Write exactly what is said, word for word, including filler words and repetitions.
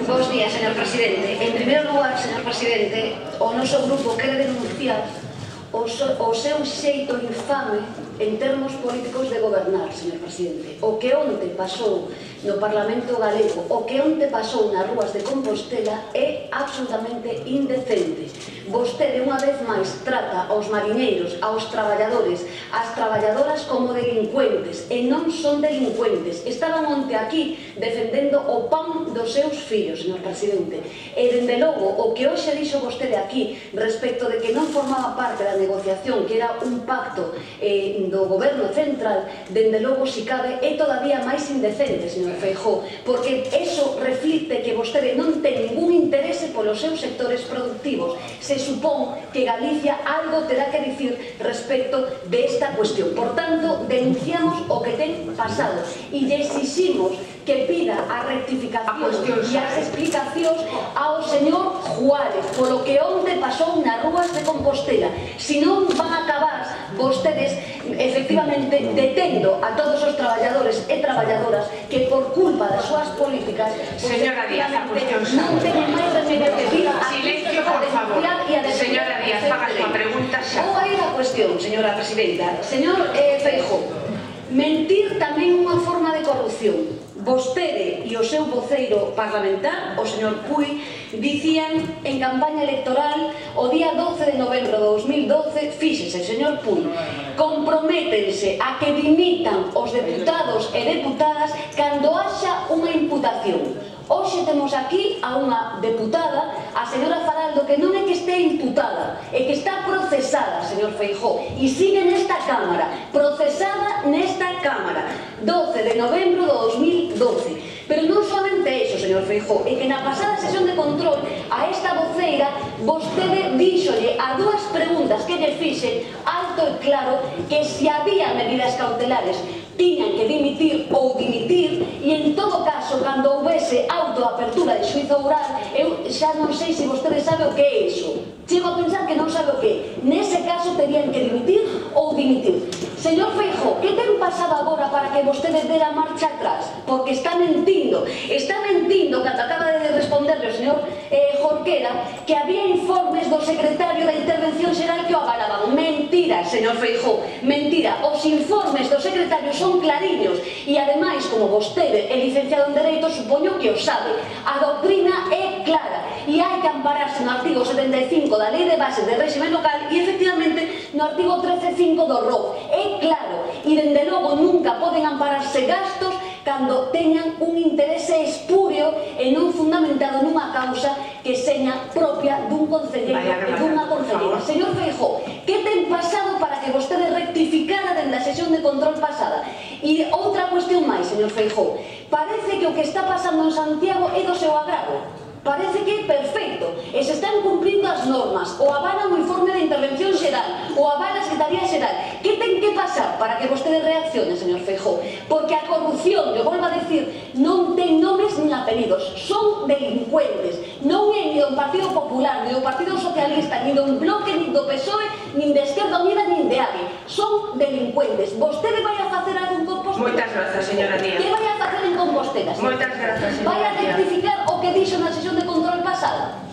Bos días, señor presidente. En primeiro lugar, señor presidente, o noso grupo quere denunciar o, so, o seu xeito infame en termos políticos de gobernar, señor presidente. O que onte pasou no Parlamento Galego, o que onte pasou nas rúas de Compostela é absolutamente indecente. Vostede, unha vez máis, trata aos mariñeiros, aos traballadores, ás traballadoras como delincuentes, e non son delincuentes. Estaban onte aquí defendendo o pan dos seus fillos, señor presidente. E, dende logo, o que hoxe dixo vostede aquí respecto de que non formaba parte da negociación, que era un pacto eh, do goberno central, dende logo, si cabe, é todavía máis indecente, señor Feijóo, porque eso reflicte que vostede non ten ningún interese polos seus sectores productivos. Se supón que Galicia algo terá que dicir respecto desta cuestión. Por tanto, denunciamos o que ten pasado e lle exiximos que pida a rectificación e as explicacións ao señor Juárez polo que onde pasou nas rúas de Compostela. Si non van a acabar vostedes efectivamente detendo a todos os traballadores e traballadoras que por culpa das súas políticas señora Díaz, a cuestión non teñen máis remedio que vir a silencio, por favor. Señora Díaz, haga a súa pregunta xa. Ou aí a cuestión, señora presidenta. Señor eh, Feijóo, mentir tamén unha forma de corrupción. Vostede e o seu voceiro parlamentar, o señor Puig, dicían en campaña electoral o día doce de novembro de dos mil doce, fíxese, señor Puig, comprométense a que dimitan os deputados e deputadas cando haxa unha imputación. Hoxe temos aquí a unha deputada, a señora Faraldo, que non é que este imputada, é que está procesada, señor Feijóo, e sigue nesta Cámara, procesada nesta Cámara, doce de novembro de dos mil doce. Pero non solamente iso, señor Feijóo, é que na pasada sesión de control a esta voceira vostede díxolle a dúas preguntas que lle fixen alto e claro que se había medidas cautelares tiñan que dimitir ou dimitir, e en todo caso, cando houvese autoapertura de xuízo oral, eu xa non sei se vostede sabe o que é iso. Chego a pensar que non sabe o que é. Nese caso terían que dimitir ou dimitir. Señor Feijóo, que ten pasado agora para que vostede dera marcha atrás? Porque está mentindo. Está mentindo, cando acaba de responderle o señor eh, Jorquera, que había informes do secretario da Intervención Xeral que o avalaban. Mentira, señor Feijóo, mentira. Os informes do secretario son clariños e, ademais, como vostede é licenciado en Dereito, supoño que o sabe. A doutrina é clara e hai que ampararse no artigo setenta e cinco da Lei de Bases de Réxime Local e, efectivamente, no artigo trece punto cinco do R O C. É claro, e, dende logo, nunca poden ampararse gastos cando teñan un interese espúreo e non fundamentado nunha causa que seña propia dun concelleiro e dunha concelleira. Señor Feijóo, que ten pasado para que vostede rectificara dende a sesión de control pasada? E outra cuestión máis, señor Feijóo, parece que o que está pasando en Santiago é do seu agrado. Parece que é perfecto e se están cumprindo as normas, o avalan o informe de Intervención Xeral, o avala a Secretaría Xeral. Que ten que pasar para que vostede reaccione, señor Feijóo? Porque a corrupción, eu volvo a decir, non ten nomes nin apelidos, son delincuentes. Non é ni do Partido Popular, ni do Partido Socialista, ni do Bloque, ni do P S O E, nin de Esquerda Unida, nin de A G E. Son delincuentes. Vostede vai a facer algo en Compostela? Moitas grazas, señora Díaz. Que vai a facer en Compostela? Moitas grazas, señora Díaz. Vai a rectificar o que dixo na sesión de control pasada?